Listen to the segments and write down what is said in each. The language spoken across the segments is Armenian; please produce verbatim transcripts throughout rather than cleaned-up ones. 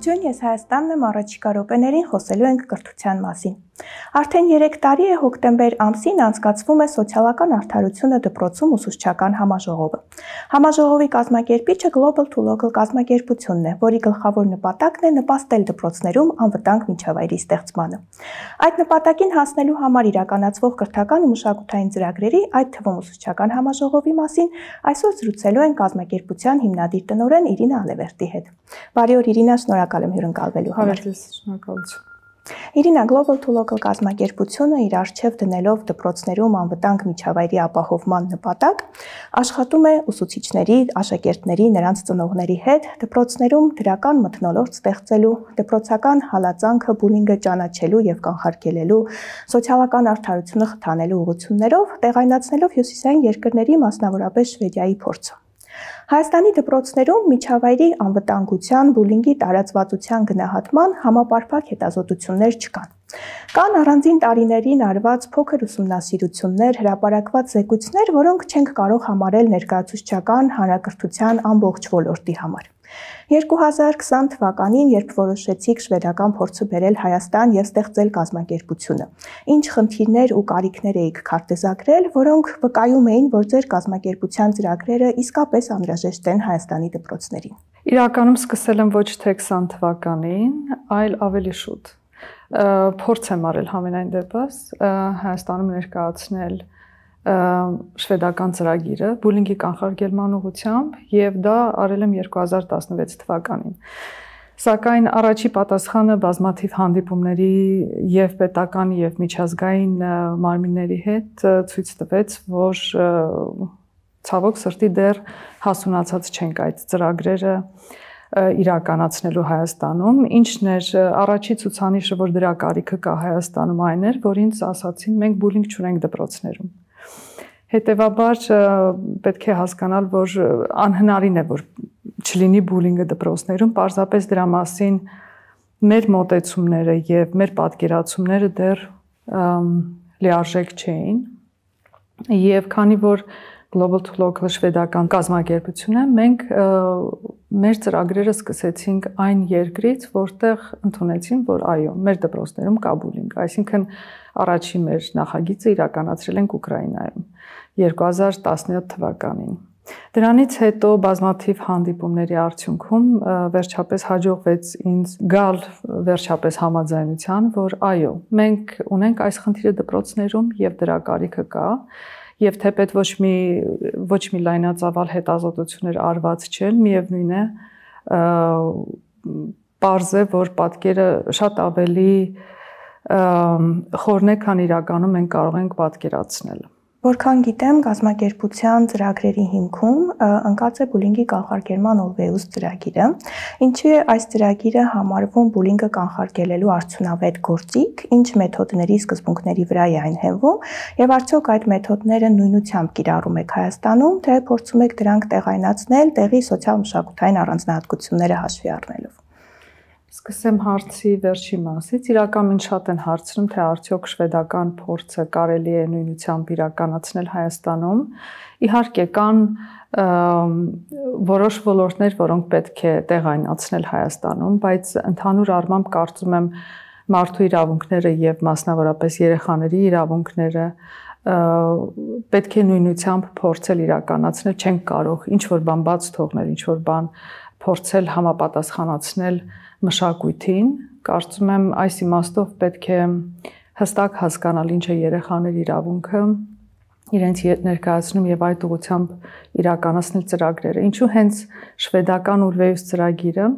Ողջույն, ես Հայաստանն եմ, առաջիկա րոպեներին խոսելու ենք կրթության մասին։ Արդեն երեք տարի է հոկտեմբեր ամսին անցկացվում է սոցիալական արդարությունը դպրոցում ուսուցչական համաժողովը։ Համաժողովի կազմակերպիչը Global to Local կազմակերպությունն է, որի գլխավոր նպատակն է նպաստել դպրոցներում անվտանգ միջավայրի ստեղծմանը։ Այդ նպատակին հասնելու համար իրականացվող կրթական ու մշակութային ծրագրերի, այդ թվում ուսուցչական համաժողովի մասին այսօր զրուցելու են կազմակերպության հիմնադիր տնօրեն Իրինա Ալևերտի հետ։ Բարի օր Իրինա, շնորհակալ եմ հյուրընկալվելու համար։ Շնորհակալություն։ Իրինա, Global to Local կազմակերպությունը իր առջև դնելով դպրոցներում անվտանգ միջավայրի ապահովման նպատակ աշխատում է ուսուցիչների, աշակերտների, նրանց ծնողների հետ դպրոցներում դրական մթնոլորտ ստեղծելու, դպրոցական հալածանքը, բուլինգը ճանաչելու եւ կանխարգելելու, սոցիալական արդարությունը խթանելու ուղղություններով տեղայնացնելով հյուսիսային երկրների, մասնավորապես Շվեդիայի փորձը։ Հայաստանի դպրոցներում միջավայրի անվտանգության, բուլինգի տարածվածության գնահատման համապարփակ հետազոտություններ չկան։ Կան առանձին տարիներին արված փոքր ուսումնասիրություններ, հրապարակված զեկույցներ, որոնք չենք կարող համարել ներկայացուցչական հանրակրթության ամբողջ ոլորտի համար։ երկու հազար քսան թվականին, երբ որոշեցիք շվեդական փորձը բերել Հայաստան եւ ստեղծել կազմակերպությունը, ինչ խնդիրներ ու կարիքներ էիք քարտեզագրել, որոնք վկայում էին, որ ձեր կազմակերպության ծրագրերը իսկապես անհրաժեշտ են Հայաստանի դպրոցներին։ Իրականում սկսել եմ ոչ թե քսան թվականին, այլ ավելի շուտ։ Փորձ եմ արել համենայն դեպս Հայաստանում ներկայացնել շվեդական ծրագիրը բուլինգի կանխարգելման ուղղությամբ եւ դա արել եմ երկու հազար տասնվեց թվականին։ Սակայն առաջի պատասխանը բազմաթիվ հանդիպումների եւ պետական եւ միջազգային մարմինների հետ ցույց տվեց, որ ցավոք սրտի դեռ հասունացած չենք այդ ծրագրերը իրականացնելու Հայաստանում, ինչն էր առաջի ցուցանիշը, որ դրա կարիքը կա Հայաստանում, այն էր, որ ինձ ասացին, մենք բուլինգ չունենք դպրոցներում։ Հետևաբար պետք է հասկանալ, որ անհնարին է, որ չլինի բուլինգը դպրոցներում, պարզապես դրա մասին մեր մոտեցումները եւ մեր պատկերացումները դեռ լիարժեք չէին։ Եվ քանի որ Global to Local շվեդական կազմակերպությունը, մենք մեր ծրագրերը սկսեցինք այն երկրից, որտեղ ընդունեցին, որ այո, մեր դպրոցներում կա բուլինգ, այսինքն առաջի մեր նախագիծը իրականացրել ենք Ուկրաինայում երկու հազար տասնյոթ թվականին։ Դրանից հետո բազմաթիվ հանդիպումների արդյունքում վերջապես հաջողվեց ինձ գալ վերջապես համաձայնության, որ այո, մենք ունենք այս խնդիրը դպրոցներում եւ դրա կարիքը կա, եւ թեպետ ոչ մի ոչ մի լայնածավալ հետազոտություններ արված չեն, միևնույն է, պարզ է, որ պատկերը շատ ավելի խորն է, քան իրականում մենք կարող ենք պատկերացնել։ Որքան գիտեմ, կազմակերպության ծրագրերի հիմքում ընկած է բուլինգի կանխարգելման Always ծրագիրը, ինչի է այս ծրագիրը համարվում բուլինգը կանխարգելելու արդյունավետ գործիք, ինչ մեթոդների սկզբունքների վրա է այն հենվում, եւ արդյոք այդ մեթոդները նույնությամբ կիրառում եք Հայաստանում, թե փորձում եք դրանք տեղայնացնել տեղի սոցիալ-մշակութային առանձնահատկությունները հաշվի առնելով։ Սկսեմ հարցի վերջի մասից, իրականում շատ են հարցնում, թե արդյոք շվեդական փորձը կարելի է նույնությամբ իրականացնել Հայաստանում։ Իհարկե կան որոշ ոլորտներ, որոնք պետք է տեղայնացնել Հայաստանում, բայց ընդհանուր առմամբ կարծում եմ մարդու իրավունքները եւ մասնավորապես երեխաների իրավունքները պետք է նույնությամբ փորձել իրականացնել, չենք կարող ինչ որ բան բաց թողնել, ինչ որ բան փորձել համապատասխանացնել մշակույթին, կարծում եմ այս իմաստով պետք է հստակ հասկանալ ինչ է երեխաների իրավունքը, իրենց ներկայացնում եւ այդ ուղղությամբ իրականացնել ծրագրերը։ Ինչու հենց շվեդական Always ծրագիրը,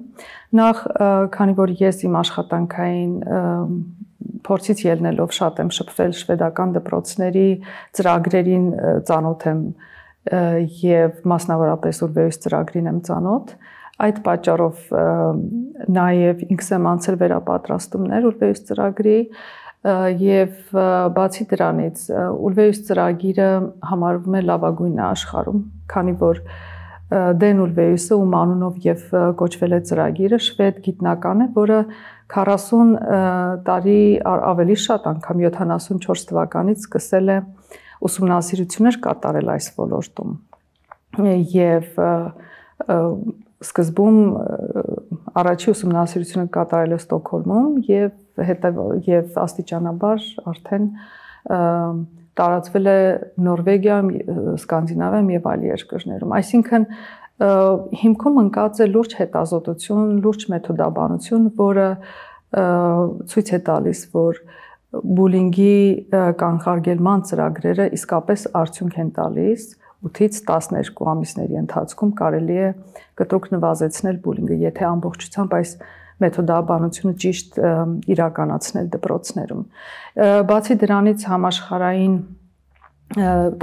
նախ քանի որ ես իմ աշխատանքային փորձից ելնելով շատ եմ շփվել շվեդական դպրոցների ծրագրերին ծանոթ եմ եւ մասնավորապես Always ծրագրին եմ ծանոթ, այդ պատճառով նաև ինքս եմ անցել վերապատրաստումներ Always ծրագրի եւ բացի դրանից Always ծրագիրը համարվում է լավագույնը աշխարհում, քանի որ Դեն Always-ը ում անունով եւ կոչվել է ծրագիրը շվեդ գիտնական է, որը քառասուն տարի ավելի շատ անգամ յոթանասունչորս թվականից սկսել է ուսումնասիրություններ կատարել այս ոլորտում եւ սկզբում առաջի ուսումնասիրությունը կատարել է Ստոկհոլմում եւ հետո եւ աստիճանաբար արդեն տարածվել է Նորվեգիայում, Սկանդինավիայում եւ այլ երկրներում։ Այսինքն հիմքում ընկած է լուրջ հետազոտություն, լուրջ մեթոդաբանություն, որը ցույց է տալիս, որ բուլինգի կանխարգելման ծրագրերը իսկապես արդյունք են տալիս ութից տասներկու ամիսների ընթացքում կարելի է կտրուկ նվազեցնել բուլինգը, եթե ամբողջությամբ այս մեթոդաբանությունը ճիշտ իրականացնել դպրոցներում։ Բացի դրանից համաշխարհային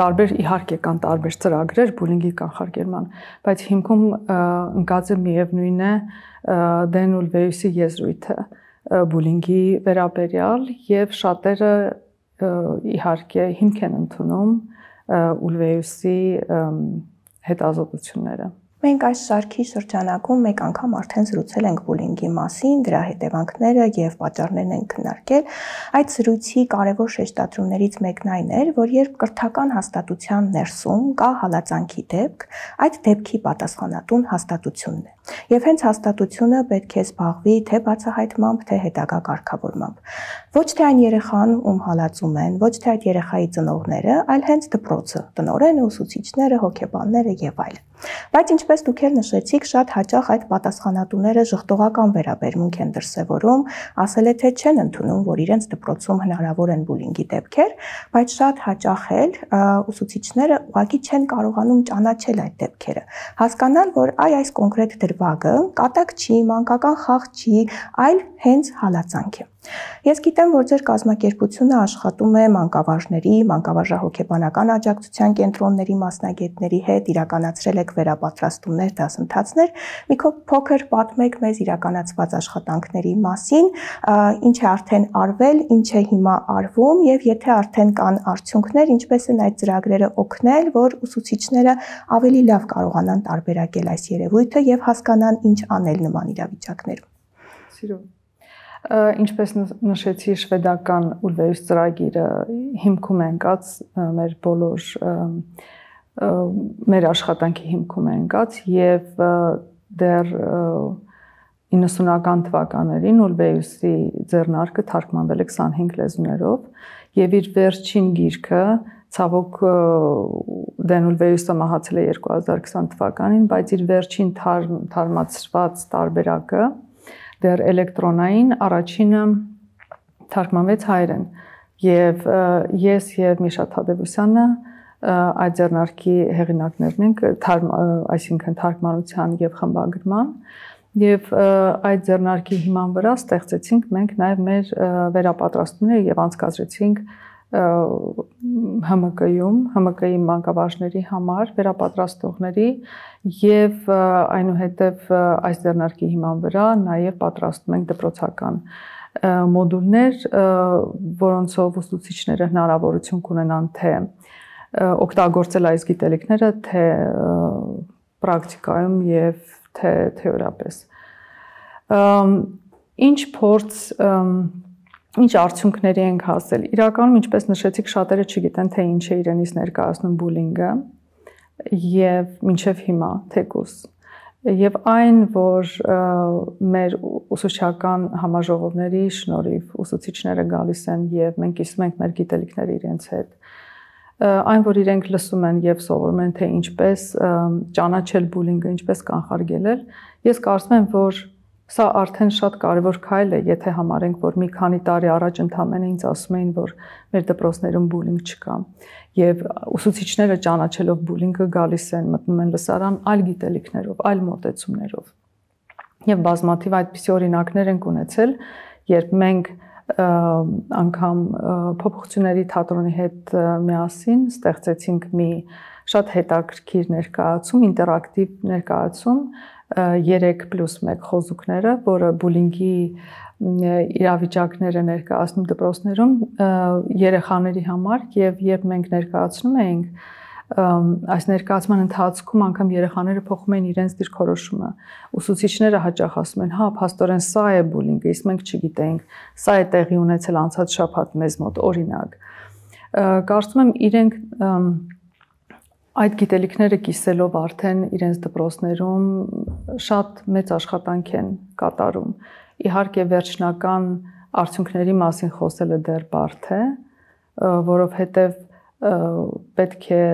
տարբեր իհարկե կան տարբեր ծրագրեր բուլինգի կանխարգելման, բայց հիմքում ընկած է միևնույն է Դեն Ուլվեյուսի եզրույթը բուլինգի վերաբերյալ եւ շատերը իհարկե հիմք են ընդունում Ուլվեյուսի հետազոտությունները։ Մենք այս շարքի շրջանակում մեկ անգամ արդեն զրուցել ենք բուլինգի մասին, դրա հետևանքները եւ պատճառներն են քննարկել։ Այդ զրույցի կարևոր շեշտադրումներից մեկն այն էր, որ երբ կրթական հաստատության ներսում կա հալածանքի դեպք, այդ դեպքի պատասխանատուն հաստատությունն է։ Եվ հենց հաստատությունը պետք է զբաղվի թե բացահայտմամբ, թե հետագա կարգավորմամբ։ Ոչ թե այն երեխան, ում հալածում են, ոչ թե այդ երեխայի ծնողները, այլ հենց դպրոցը, տնօրենը, ուսուցիչները, հոգեբանները եւ այլն։ Բայց ինչպես դուք էլ նշեցիք, շատ հաճախ այդ պատասխանատուները ժխտողական վերաբերմունք են դրսևորում, ասել է թե չեն ընդունում, որ իրենց դպրոցում հնարավոր են բուլինգի դեպքեր, բայց շատ հաճախ էլ ուսուցիչները ուղղակի չեն կարողանում ճանաչել այդ դեպքերը, հասկանալ, որ այ այս կոնկրետ դրվագը կատակ չի, մանկական խաղ չի, այլ հենց հալածանք է։ Ես գիտեմ, որ ձեր կազմակերպությունը աշխատում է մանկավարժների, մանկավարժահոգեբանական աջակցության կենտրոնների մասնագետների հետ, իրականացրել եք վերապատրաստումներ, դասընթացներ, մի փոքր պատմեք մեզ իրականացված աշխատանքների մասին, ինչ է արդեն արվել, ինչ է հիմա արվում եւ եթե արդեն կան արդյունքներ, ինչպես են այդ ծրագրերը օգնել, որ ուսուցիչները ավելի լավ կարողանան տարբերակել այս երևույթը եւ հասկանան ինչ անել նման իրավիճակներում։ Սիրո Ինչպես նշեցի, շվեդական Ուլվեյուս ծրագիրը հիմքում է ընկած մեր բոլոր մեր աշխատանքի հիմքում է ընկած եւ դեռ իննսունական թվականներին Ուլվեյուսի ձեռնարկը թարգմանվել է քսանհինգ լեզուներով եւ իր վերջին գիրքը ցավոք Դեն Ուլվեյուսը մահացել է երկու հազար քսան թվականին, բայց իր վերջին թարմացված տարբերակը դեռ էլեկտրոնային առաջինը թարգմանվեց հայերեն եւ ես եւ Միշա Թադևոսյանը այդ ձեռնարկի հեղինակներն ենք, այսինքն թարգմանության եւ խմբագրման եւ այդ ձեռնարկի հիման վրա ստեղծեցինք մենք նաեւ մեր վերապատրաստումները եւ անցկացրեցինք Հ M K-ում, Հ M K-ի մանկավարժների համար վերապատրաստողների եւ այնուհետեւ այս ձեռնարկի հիման վրա նաեւ պատրաստում ենք դպրոցական մոդուլներ, որոնցով ուսուցիչները հնարավորություն կունենան թե օգտագործել այս գիտելիքները, թե պրակտիկայում եւ թե թեորիապես։ Ինչ փորձ Ինչ արդյունքների ենք հասել։ Իրականում, ինչպես նշեցիք, շատերը չգիտեն, թե ինչ է իրենից ներկայացնում բուլինգը եւ մինչեւ հիմա թեկուս։ Եվ այն, որ մեր ուսուցչական համաժողովների շնորհիվ ուսուցիչները գալիս են եւ մենք կիսում ենք մեր գիտելիքները իրենց հետ, այն, որ իրենք լսում են եւ սովորում են, թե ինչպես ճանաչել բուլինգը, ինչպես կանխարգելել, ես կարծում եմ, որ Սա արդեն շատ կարևոր քայլ է, եթե համարենք, որ մի քանի տարի առաջ ընդամենը ինձ ասում էին, որ մեր դպրոցներում բուլինգ չկա։ Եվ ուսուցիչները ճանաչելով բուլինգը գալիս են, մտնում են լսարան այլ գիտելիքներով, այլ մոտեցումներով։ Եվ բազմաթիվ այդպիսի օրինակներ ենք ունեցել, երբ մենք անգամ փոփոխությունների թատրոնի հետ միասին ստեղծեցինք մի շատ հետաքրքիր ներկայացում, ինտերակտիվ ներկայացում, երեք պլյուս մեկ խոզուկները, որը բուլինգի իրավիճակները ներկայացնում դպրոցներում երեխաների համար եւ երբ մենք ներկայացնում էինք այս ներկայացման ընթացքում անգամ երեխաները փոխում են իրենց դիրքորոշումը ուսուցիչները հաճախ ասում են հա փաստորեն սա է բուլինգը իսկ մենք չգիտեինք սա է տեղի ունեցել անցած շաբաթ մեզ մոտ օրինակ կարծում եմ իրենք այդ գիտելիքները կիսելով արդեն իրենց դպրոցներում շատ մեծ աշխատանք են կատարում։ Իհարկե վերջնական արդյունքների մասին խոսելը դեռ բարդ է, որովհետև պետք է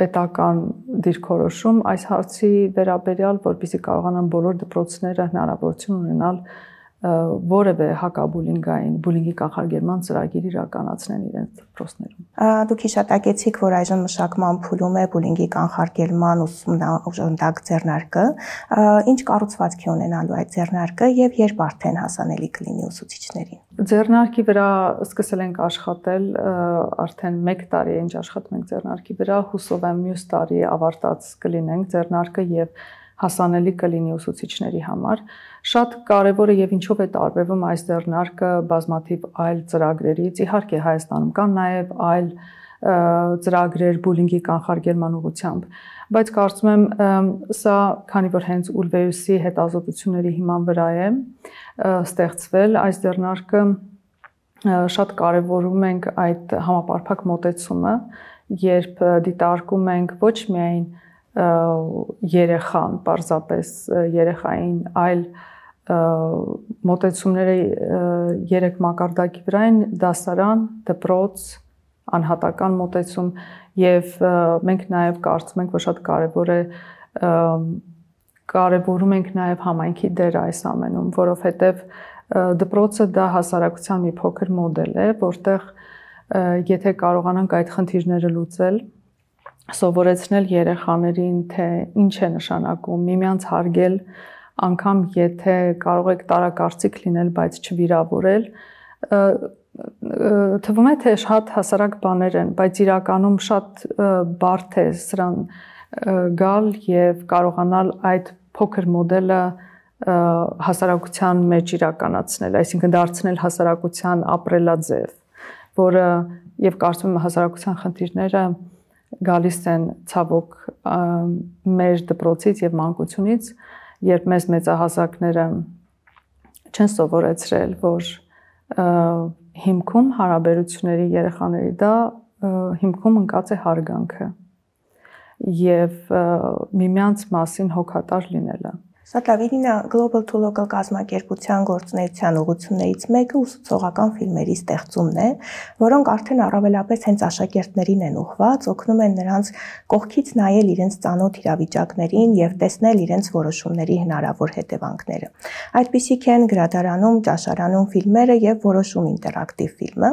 պետական դիրքորոշում այս հարցի վերաբերյալ, որպեսզի կարողանան բոլոր դպրոցները հնարավորություն ունենալ որևէ հակաբուլինգային, բուլինգի կանխարգելման ծրագիր իրականացնեն իրենց դպրոցներում։ Դուք հիշատակեցիք, որ այժմ մշակման փուլում է բուլինգի կանխարգելման ուսումնական ձեռնարկը, ինչ կառուցվածքի ունենալու այդ ձեռնարկը եւ երբ արդեն հասանելի կլինի ուսուցիչներին։ Ձեռնարկի վրա սկսել ենք աշխատել արդեն մեկ տարի է ինչ աշխատում ենք ձեռնարկի վրա, հուսով եմ մյուս տարի ավարտած կլինենք ձեռնարկը եւ հասանելի կլինի ուսուցիչների համար։ Շատ կարևոր է եւ ինչով է տարբերվում այս ձեռնարկը բազմաթիվ այլ ծրագրերից։ Իհարկե Հայաստանում կան նաեւ այլ ծրագրեր բուլինգի կանխարգելման ուղղությամբ, բայց կարծում եմ սա, քանի որ հենց Ուլվեյուսի հետազոտությունների հիման վրա է ստեղծվել այս ձեռնարկը, շատ կարևորում ենք այդ համապարփակ մոտեցումը, երբ դիտարկում ենք ոչ միայն երեխան, պարզապես երեխային, այլ մոտեցումները երեք մակարդակի վրա են՝ դասարան, դպրոց, անհատական մոտեցում եւ մենք նաեւ կարծում ենք, որ շատ կարեւոր է կարևորում ենք նաեւ համայնքի դերը այս ամենում, որովհետեւ դպրոցը դա հասարակության մի փոքր մոդել է, որտեղ եթե կարողանանք այդ խնդիրները լուծել, սովորեցնել երեխաներին, թե ինչ է նշանակում միմյանց հարգել, անգամ եթե կարող եք տարակարծիք լինել, բայց չվիրավորել, թվում է, թե շատ հասարակ բաներ են, բայց իրականում շատ բարդ է սրան գալ եւ կարողանալ այդ փոքր մոդելը հասարակության մեջ իրականացնել, այսինքն դարձնել հասարակության ապրելաձև, որը եւ կարծում եմ հասարակության խնդիրները գալիս են ցավոք մեր դպրոցից եւ մանկությունից, երբ մեզ մեծահասակները չեն սովորեցրել, որ հիմքում հարաբերությունների երեխաների դա հիմքում ընկած է հարգանքը եւ միմյանց մասին հոգատար լինելը։ Շատ լավ, Իրինա, Global to Local կազմակերպության գործունեության ուղղություններից մեկը ուսուցողական ֆիլմերի ստեղծումն է, որոնք արդեն առավելապես հենց աշակերտներին են ուղղված, օգնում են նրանց կողքից նայել իրենց ծանոթ իրավիճակներին եւ տեսնել իրենց որոշումների հնարավոր հետևանքները։ Այդպիսիք են Գրադարանում, Ճաշարանում ֆիլմերը եւ Որոշում ինտերակտիվ ֆիլմը։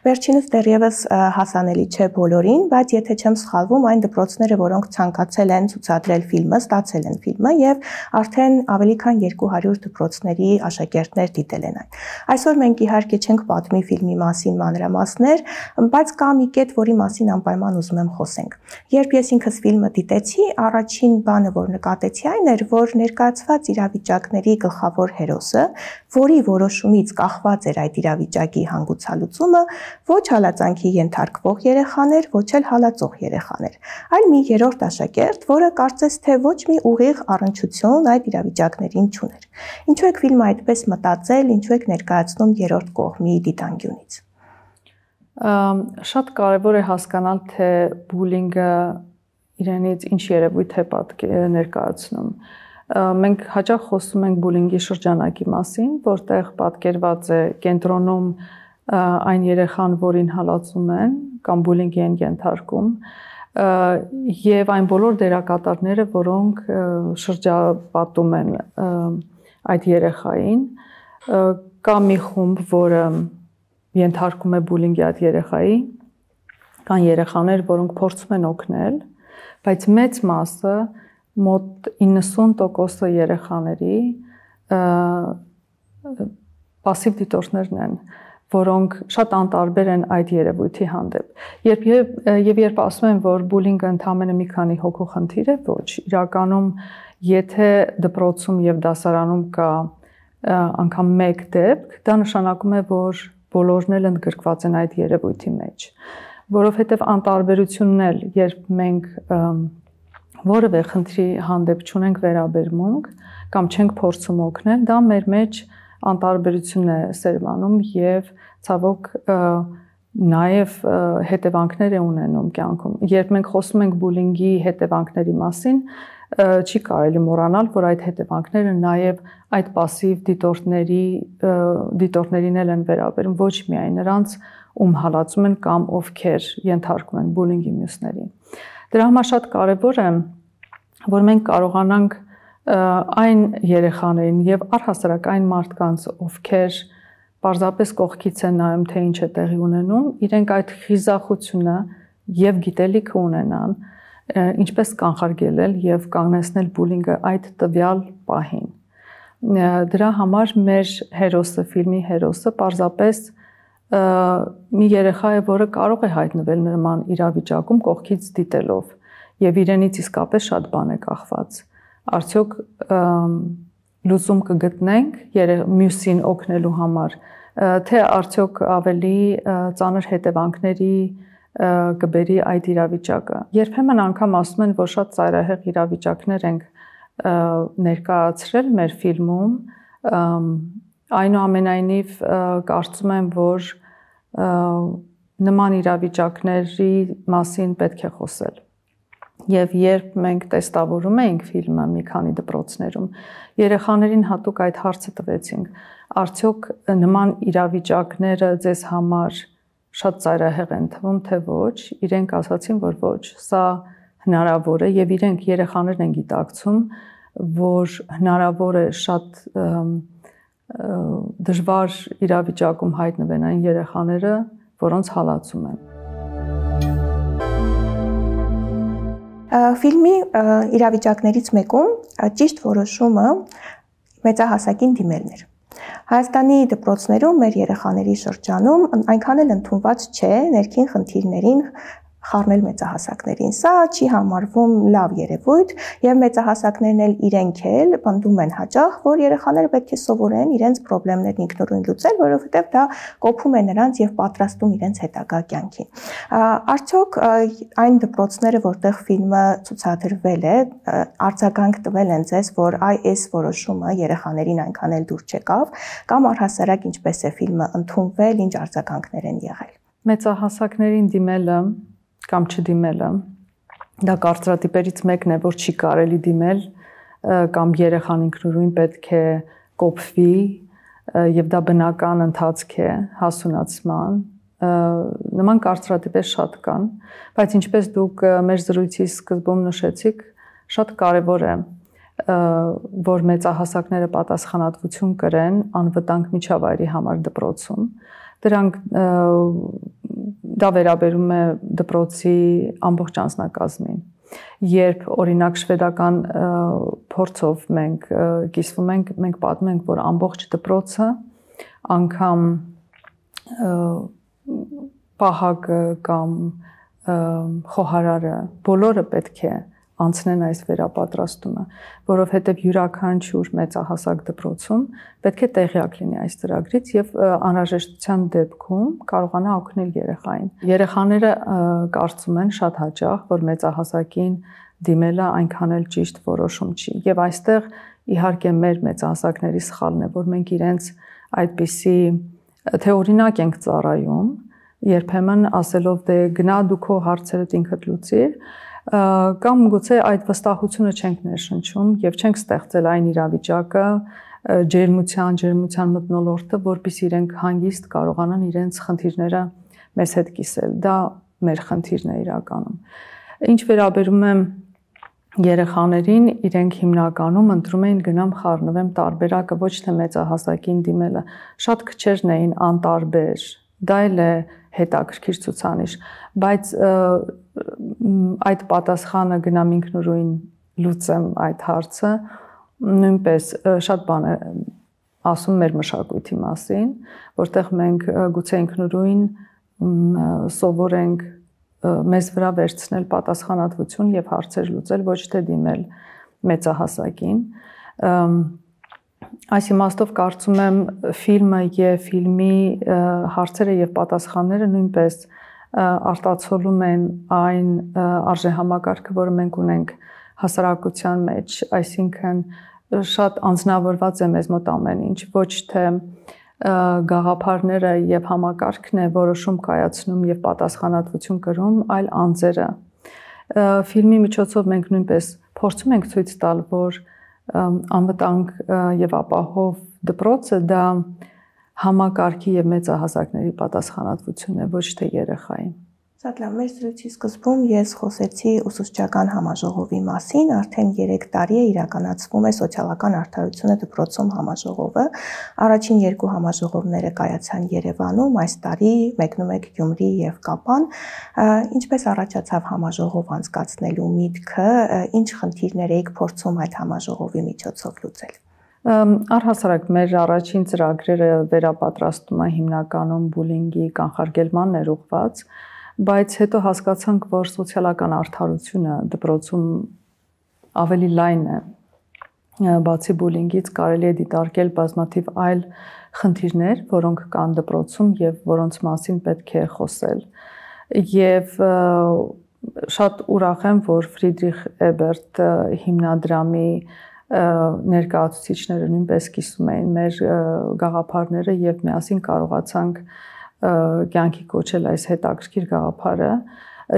Վերջինս դեռևս հասանելի չէ բոլորին, բայց եթե չեմ սխալվում, այն դպրոցները, որոնք ցանկացել են ցուցադրել ֆիլմը, ստացել են ֆիլմը եւ արդեն ավելի քան երկու հարյուր դպրոցների աշակերտներ դիտել են այն։ Այսօր մենք իհարկե չենք պատմի ֆիլմի մասին մանրամասներ, բայց կա մի կետ, որի մասին անպայման ուզում եմ խոսենք։ Երբ ես ինքս ֆիլմը դիտեցի, առաջին բանը, որ նկատեցի, այն էր, որ ներկայացված իրավիճակների գլխավոր հերոսը, որի որոշումից կախված էր այդ իրավիճակի հանգուցալուծումը, ոչ հալածանքի ենթարկվող երեխան էր, ոչ էլ հալածող երեխան էր, այլ մի երրորդ աշակերտ, որը կարծես թե ոչ մի ուղիղ առնչություն այդ իրավիճակներին չուներ։ Ինչու եք ֆիլմը այդպես մտածել, ինչու եք ներկայացնում երրորդ կողմի դիտանկյունից։ Շատ կարևոր է հասկանալ, թե բուլինգը իրենից ինչ երևույթ է ներկայացնում։ Մենք հաճախ խոսում ենք բուլինգի շրջանակի մասին, որտեղ պատկերված է կենտրոնում այն երեխան, որին հալածում են կամ բուլինգի են ենթարկում, եւ այն բոլոր դերակատարները, որոնք շրջապատում են այդ երեխային, կա մի խումբ, որը ենթարկում է բուլինգի այդ երեխայի, կան երեխաներ, որոնք փորձում են օգնել, բայց մեծ մասը, մոտ իննսուն տոկոսը երեխաների պասիվ դիտորդներն են, որոնք շատ անտարբեր են այդ երևույթի հանդեպ։ Երբ եւ երբ ասում են, որ բուլինգը ընդամենը մի քանի հոգու խնդիր է, ոչ, իրականում եթե դպրոցում եւ դասարանում կա անգամ մեկ դեպք, դա նշանակում է, որ բոլորն էլ ընդգրկված են այդ երևույթի մեջ, որովհետեւ անտարբերությունն էլ, երբ մենք որևէ խնդրի հանդեպ չունենք վերաբերմունք կամ չենք փորձում օգնել, դա մեր մեջ անտարբերություն է սերմանում եւ ցավոք նաև հետևանքներ է ունենում կյանքում։ Երբ մենք խոսում ենք բուլինգի հետևանքների մասին, չի կարելի մոռանալ, որ այդ հետևանքները նաև այդ пассив դիտորդների դիտորդներին են վերաբերում, ոչ միայն նրանց, ում հալածում են կամ ովքեր ենթարկվում են բուլինգի մյուսներին։ Դրա համար շատ կարևոր է, որ մենք կարողանանք այն երեխաներին եւ առհասարակ այն մարդկանց, ովքեր պարզապես կողքից են նայում, թե ինչ է տեղի ունենում, իրենք այդ խիզախությունը եւ գիտելիքը ունենան, ինչպես կանխարգելել եւ կանգնեցնել բուլինգը այդ տվյալ պահին։ Դրա համար մեր հերոսը, ֆիլմի հերոսը պարզապես մի երեխա է, որը կարող է հայտնվել նման իրավիճակում կողքից դիտելով եւ իրենից իսկապես շատ բան է կախված։ Արդյոք լուծում կգտնենք մյուսին օգնելու համար, թե արդյոք ավելի ծանր հետևանքների կբերի այդ իրավիճակը։ Երբեմն անգամ ասում են, որ շատ ծայրահեղ իրավիճակներ ենք ներկայացրել մեր ֆիլմում, այնուամենայնիվ կարծում եմ, որ նման իրավիճակների մասին պետք է խոսել։ Եվ երբ մենք տեստավորում էինք ֆիլմը մի քանի դպրոցներում, երեխաներին հատուկ այդ հարցը տվեցինք, արդյոք նման իրավիճակները ձեզ համար շատ ծայրահեղ են թվում, թե ոչ, իրենք ասացին, որ ոչ, սա հնարավոր է եւ իրենք երեխաներն են գիտակցում, որ հնարավոր է շատ դժվար իրավիճակում հայտնվեն այն երեխաները, որոնց հալածում են։ Ֆիլմի իրավիճակներից մեկում ճիշտ որոշումը մեծահասակին դիմելն էր։ Հայաստանի դպրոցներում մեր երեխաների շրջանում այնքան էլ ընդունված չէ ներքին խնդիրներին խառնել մեծահասակներին։ Սա չի համարվում լավ երևույթ եւ մեծահասակներն էլ իրենք էլ պնդում են հաճախ, որ երեխաները պետք է սովորեն իրենց խնդիրներն ինքնուրույն լուծել, որովհետեւ դա կոփում է նրանց եւ պատրաստում իրենց հետագա կյանքին։ Արդյոք այն դպրոցները, որտեղ ֆիլմը ցուցադրվել է, արձագանք տվել են ձեզ, որ այ այս որոշումը երեխաներին այնքան էլ դուր չեկավ, կամ առհասարակ ինչպես է ֆիլմը ընդունվել, ինչ արձագանքներ են եղել։ Մեծահասակներին դիմելը կամ չդիմելը, դա կարծրատիպերից մեկն է, որ չի կարելի դիմել, կամ երեխան ինքնուրույն պետք է կոփվի, եւ դա բնական ընթացք է հասունացման, նման կարծրատիպեր շատ կան, բայց ինչպես դուք մեր զրույցի սկզբում նշեցիք, շատ կարևոր է, որ մեծահասակները պատասխանատվություն կրեն անվտանգ միջավայրի համար դպրոցում, դրանք դա վերաբերում է դպրոցի ամբողջ անձնակազմին։ Երբ օրինակ շվեդական փորձով մենք կիսվում ենք, մենք պատմում ենք, որ ամբողջ դպրոցը, անգամ պահակը կամ խոհարարը, բոլորը պետք է անցնեն այս վերապատրաստումը, որովհետև յուրաքանչյուր մեծահասակ դպրոցում պետք է տեղյակ լինի այս ծրագրից եւ անհրաժեշտության դեպքում կարողանա օգնել երեխային։ Երեխաները կարծում են շատ հաճախ, որ մեծահասակին դիմելը այնքան էլ ճիշտ որոշում չի։ Եվ այստեղ իհարկե մեր մեծահասակների սխալն է, որ մենք իրենց այդպիսի թե օրինակ ենք ծառայում, երբեմն ասելով դե գնա դու քո հարցերդ ինքդ լուծիր, կամ գուցե այդ վստահությունը չենք ներշնչում եւ չենք ստեղծել այն իրավիճակը, ջերմության, ջերմության մթնոլորտը, որպեսզի իրենք հանգիստ կարողանան իրենց խնդիրները մեզ հետ կիսել։ Դա մեր խնդիրն է իրականում։ Ինչ վերաբերում է երեխաներին, իրենք հիմնականում ընտրում էին գնամ խառնվեմ տարբերակը, ոչ թե մեծահասակին դիմելը։ Շատ քչերն էին անտարբեր։ Դա էլ է հետաքրքիր ցուցանիշ, բայց այդ պատասխանը գնամ ինքնուրույն լուծեմ այդ հարցը, նույնպես շատ բան է ասում մեր մշակույթի մասին, որտեղ մենք գուցե ինքնուրույն սովորենք մեզ վրա վերցնել պատասխանատվություն եւ հարցեր լուծել, ոչ թե դիմել մեծահասակին։ Այս իմաստով կարծում եմ ֆիլմը եւ ֆիլմի հարցերը եւ պատասխանները նույնպես արտացոլում են այն արժեհամակարգը, որը մենք ունենք հասարակության մեջ, այսինքն շատ անձնավորված է մեզ մոտ ամեն ինչ, ոչ թե գաղափարները եւ համակարգն է որոշում կայացնում եւ պատասխանատվություն կրում, այլ անձերը։ Ֆիլմի միջոցով մենք նույնպես փորձում ենք ցույց տալ, որ անվտանգ եւ ապահով դպրոցը դա համակարգի եւ մեծահասակների պատասխանատվությունն է, ոչ թե երեխայի։ Շատ լավ, մեր զրույցի սկզբում ես խոսեցի ուսուցչական համաժողովի մասին, արդեն երեք տարի է իրականացվում է սոցիալական արդարությունը դպրոցում համաժողովը։ Առաջին երկու համաժողովները կայացան Երևանում, այս տարի մեկնում եք Գյումրի եւ Կապան։ Ինչպես առաջացավ համաժողով անցկացնելու միտքը, ինչ խնդիրներ եք փորձում այդ համաժողովի միջոցով լուծել։ Առհասարակ մեր առաջին ծրագրերը վերապատրաստումը հիմնականում բուլինգի կանխարգելմանն էր ուղղված, բայց հետո հասկացանք, որ սոցիալական արդարությունը դպրոցում ավելի լայն է։ Բացի բուլինգից կարելի է դիտարկել բազմաթիվ այլ խնդիրներ, որոնք կան դպրոցում եւ որոնց մասին պետք է խոսել։ Եվ շատ ուրախ եմ, որ Ֆրիդրիխ Էբերտ հիմնադրամի ներկայացուցիչները նույնպես կիսում էին մեր գաղափարները եւ միասին կարողացանք կյանքի կոչել այս հետաքրքիր գաղափարը։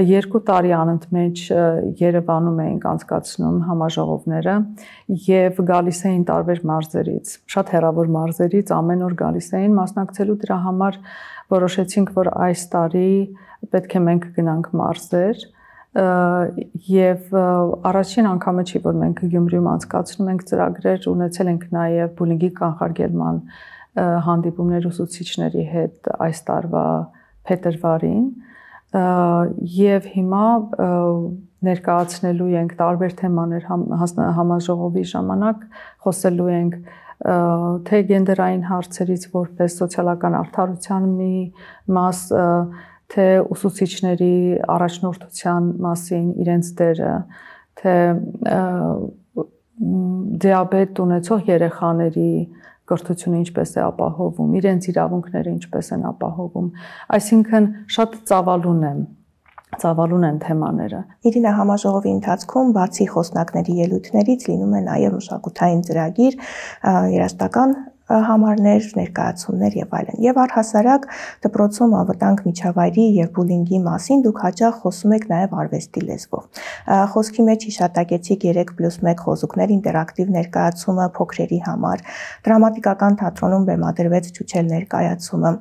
Երկու տարի անընդմեջ Երևանում էինք անցկացնում համաժողովները եւ գալիս էին տարբեր մարզերից, շատ հեռավոր մարզերից, ամեն օր գալիս էին մասնակցելու, դրա համար որոշեցինք, որ այս տարի պետք է մենք գնանք մարզեր եւ առաջին անգամը չի, որ մենք Գյումրիում անցկացնում ենք ծրագրեր, ունեցել ենք նաեւ բուլինգի կանխարգելման հանդիպումներ ուսուցիչների հետ այս տարվա փետրվարին եւ հիմա ներկայացնելու ենք տարբեր թեմաներ համաժողովի ժամանակ, խոսելու ենք թե գենդերային հարցերից որպես սոցիալական արդարության մի մաս, թե ուսուցիչների առաջնորդության մասին, իրենց դերը, թե դիաբետ ունեցող երեխաների կրթությունը ինչպես է ապահովում, իրենց իրավունքները ինչպես են ապահովում, այսինքն շատ ծավալուն է, ծավալուն են թեմաները։ Իրինա, համաժողովի ընթացքում բացի խոսնակների ելույթներից լինում է նաև մշակութային ծրագիր, երաժշտական համարներ, ներկայացումներ եւ այլն։ Եվ առհասարակ դպրոցում անվտանգ միջավայրի եւ բուլինգի մասին դուք հաճախ խոսում եք նաեւ արվեստի լեզվով։ Խոսքի մեջ հիշատակեցիք երեք պլյուս մեկ խոզուկներ ինտերակտիվ ներկայացումը փոքրերի համար, դրամատիկական թատրոնում բեմադրվեց Չուչել ներկայացումը,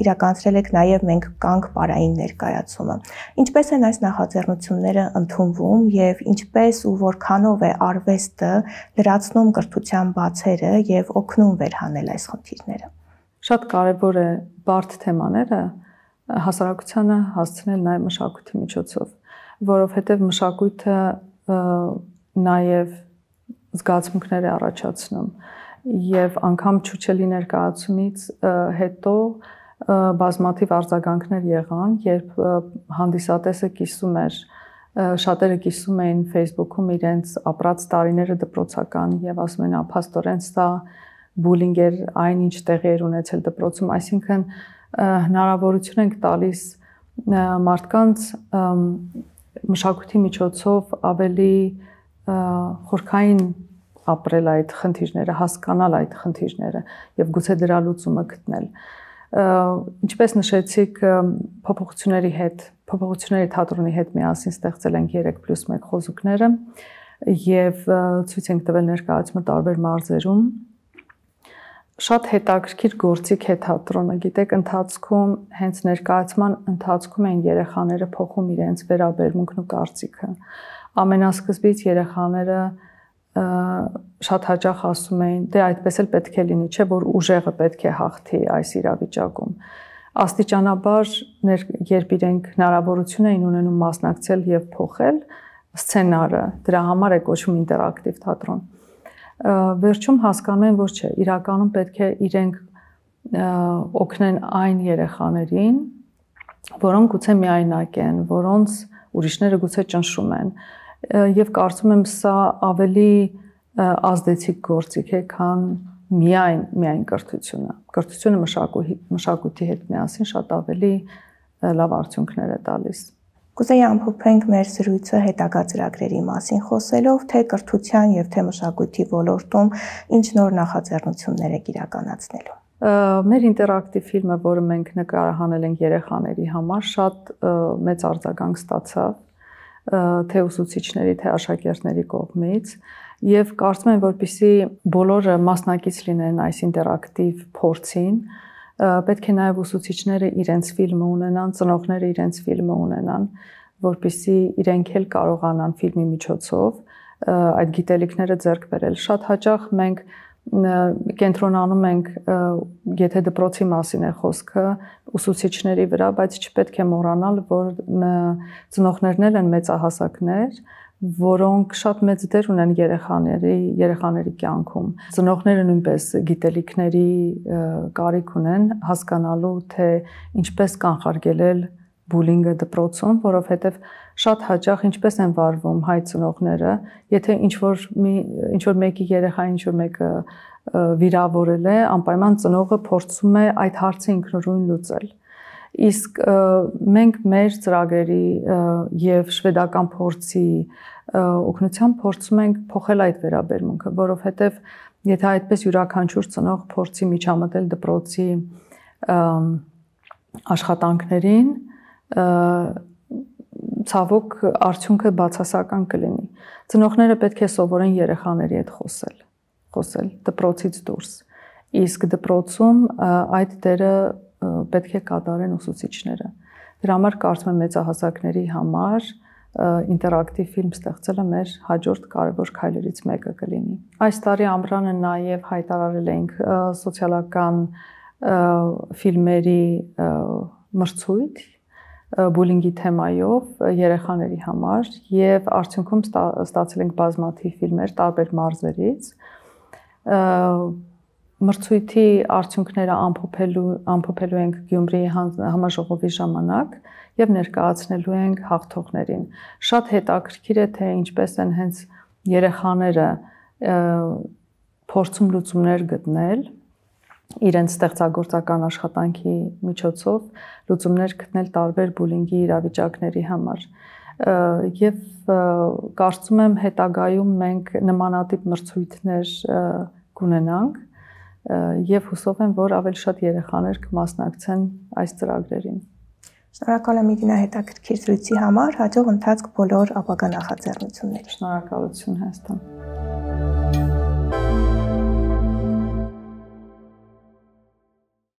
իրականացրել եք նաեւ Մենք կանք պարային ներկայացումը։ Ինչպես են այս նախաձեռնությունները ընդունվում եւ ինչպես ու որքանով է արվեստը լրացնում կրթության բացերը եւ օգնում վերհանել այս խնդիրները։ Շատ կարևոր է բարդ թեմաները հասարակությանը հասցնել նաև մշակույթի միջոցով, որովհետև մշակույթը նաև զգացմունքներ է առաջացնում եւ անգամ Չուչելի ներկայացումից հետո բազմաթիվ արձագանքներ եղան, երբ հանդիսատեսը կիսում էր, շատերը կիսում էին Facebook-ում իրենց ապրած տարիները դպրոցական եւ ասում են ափաստորեն սա բուլինգ էր, այնինչ տեղի էր ունեցել դպրոցում, այսինքն հնարավորություն ենք տալիս մարդկանց մշակույթի միջոցով ավելի խորքային ապրել այդ խնդիրները, հասկանալ այդ խնդիրները եւ գուցե դրա լուծումը գտնել։ Ինչպես նշեցիք, փոփոխությունների հետ, փոփոխությունների թատրոնի հետ միասին ստեղծել ենք երեք պլյուս մեկ խոզուկները եւ ցույց ենք տվել ներկայացումը տարբեր մարզերում։ Շատ հետաքրքիր գործիք է թատրոնը, գիտեք, ընթացքում, հենց ներկայացման ընթացքում են երեխաները փոխում իրենց վերաբերմունքն ու կարծիքը։ Ամենասկզբից երեխաները շատ հաճախ ասում էին, դե այդպես էլ պետք է լինի, չէ՞ որ ուժեղը պետք է հաղթի այս իրավիճակում։ Աստիճանաբար, երբ իրենք հնարավորություն էին ունենում մասնակցել եւ փոխել սցենարը, դրա համար է կոչվում ինտերակտիվ թատրոն։ Վերջում հասկանում են, որ չէ, իրականում պետք է իրենք օգնեն այն երեխաներին, որոնք գուցե միայնակ են, որոնց ուրիշները գուցե ճնշում են, եւ կարծում եմ սա ավելի ազդեցիկ գործիք է, քան միայն միայն կրթությունը։ Կրթությունը մշակույթի մշակույթի հետ միասին շատ ավելի լավ արդյունքներ է տալիս։ Կուզեի ամփոփենք մեր զրույցը հետագա ծրագրերի մասին խոսելով, թե կրթության եւ թե մշակույթի ոլորտում ինչ նոր նախաձեռնություններ եք իրականացնելու։ Մեր ինտերակտիվ ֆիլմը, որը մենք նկարահանել ենք երեխաների համար, շատ մեծ արձագանք ստացավ թե ուսուցիչների, թե աշակերտների կողմից, եւ կարծում եմ, որպեսզի բոլորը մասնակից լինեն այս ինտերակտիվ փորձին, պետք է նաեւ ուսուցիչները իրենց ֆիլմը ունենան, ծնողները իրենց ֆիլմը ունենան, որպեսզի իրենք էլ կարողանան ֆիլմի միջոցով այդ գիտելիքները ձեռք բերել։ Շատ հաճախ մենք կենտրոնանում ենք, եթե դպրոցի մասին է խոսքը, ուսուցիչների վրա, բայց չպետք է մոռանալ, որ ծնողներն են մեծահասակներ, որոնք շատ մեծ դեր ունեն երեխաների, երեխաների կյանքում։ Ծնողները նույնպես գիտելիքների կարիք ունեն հասկանալու, թե ինչպես կանխարգելել բուլինգը դպրոցում, որովհետև շատ հաճախ ինչպես են վարվում հայ ծնողները, եթե ինչ-որ մի ինչ-որ մեկի երեխա ինչ-որ մեկը վիրավորել է, անպայման ծնողը փորձում է այդ հարցը ինքնուրույն լուծել։ Իսկ մենք մեր ծրագրերի եւ շվեդական փորձի օգնությամբ փորձում ենք փոխել այդ վերաբերմունքը, որովհետեւ եթե այդպես յուրաքանչյուր ծնող փորձի միջամտել դպրոցի աշխատանքներին, ցավոք արդյունքը բացասական կլինի։ Ծնողները պետք է սովորեն երեխաների հետ խոսել, խոսել դպրոցից դուրս։ Իսկ դպրոցում այդ դերը պետք է կատարեն ուսուցիչները։ Դրա համար կարծում եմ մեծահասակների համար ինտերակտիվ ֆիլմ ստեղծելը մեր հաջորդ կարևոր քայլերից մեկը կլինի։ Այս տարի ամռանը նաև հայտարարել ենք սոցիալական ֆիլմերի մրցույթ բուլինգի թեմայով երեխաների համար եւ արդյունքում ստացել ենք բազմաթիվ ֆիլմեր տարբեր մարզերից։ Մրցույթի արդյունքները ամփոփելու ամփոփելու ենք Գյումրիի համաժողովի ժամանակ եւ ներկայացնելու ենք հաղթողներին։ Շատ հետաքրքիր է, թե ինչպես են հենց երեխաները փորձում լուծումներ գտնել իրենց ստեղծագործական աշխատանքի միջոցով լուծումներ գտնել տարբեր բուլինգի իրավիճակների համար։ Եվ կարծում եմ հետագայում մենք նմանատիպ մրցույթներ կունենանք եւ հուսով եմ, որ ավելի շատ երեխաներ կմասնակցեն այս ծրագրերին։ Շնորհակալ եմ Իրինա հետաքրքիր զրույցի համար, հաջող ընթացք բոլոր ապագա նախաձեռնություններին։ Շնորհակալություն Հայաստան։